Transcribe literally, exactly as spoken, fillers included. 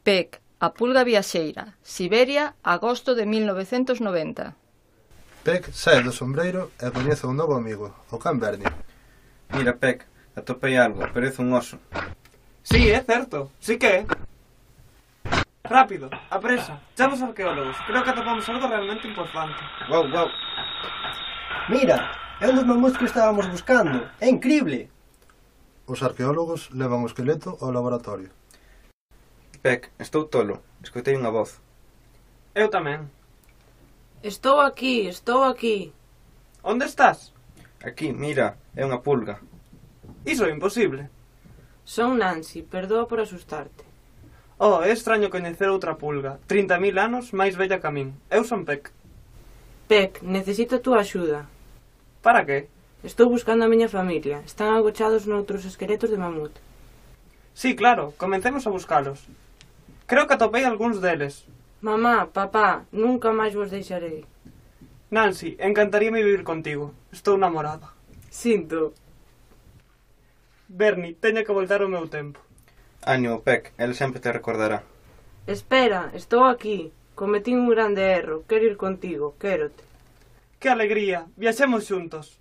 Peck, a pulga viaxeira, Siberia, agosto de mil novecentos noventa. Peck sae do sombreiro e coñece un novo amigo, o can Bernie. Mira, Peck, atopei algo, parece un oso. Sí, é certo, sí que é. Rápido, apresa, chama os arqueólogos. Creo que atopamos algo realmente importante. Wow, wow. Mira, é un dos mamuts que estábamos buscando. É incrible. Os arqueólogos levan o esqueleto ao laboratorio. Peck, estou tolo. Escoitei unha voz. Eu tamén. Estou aquí, estou aquí. Onde estás? Aquí, mira, é unha pulga. Iso é imposible. Son Nancy, perdoa por asustarte. Oh, é extraño coñecer outra pulga. trinta mil anos máis bella que a min. Eu son Peck. Peck, necesito a túa axuda. Para que? Estou buscando a miña familia. Están agochados noutros esqueletos de mamut. Sí, claro, comencemos a buscalos. Creo que atopei algúns deles. Mamá, papá, nunca máis vos deixarei. Nancy, encantaríame vivir contigo. Estou namorada. Sinto. Bernie, teño que voltar ao meu tempo. Ánimo, Peck, el sempre te recordará. Espera, estou aquí. Cometín un grande erro. Quero ir contigo, quérote. Que alegría, viaxemos xuntos.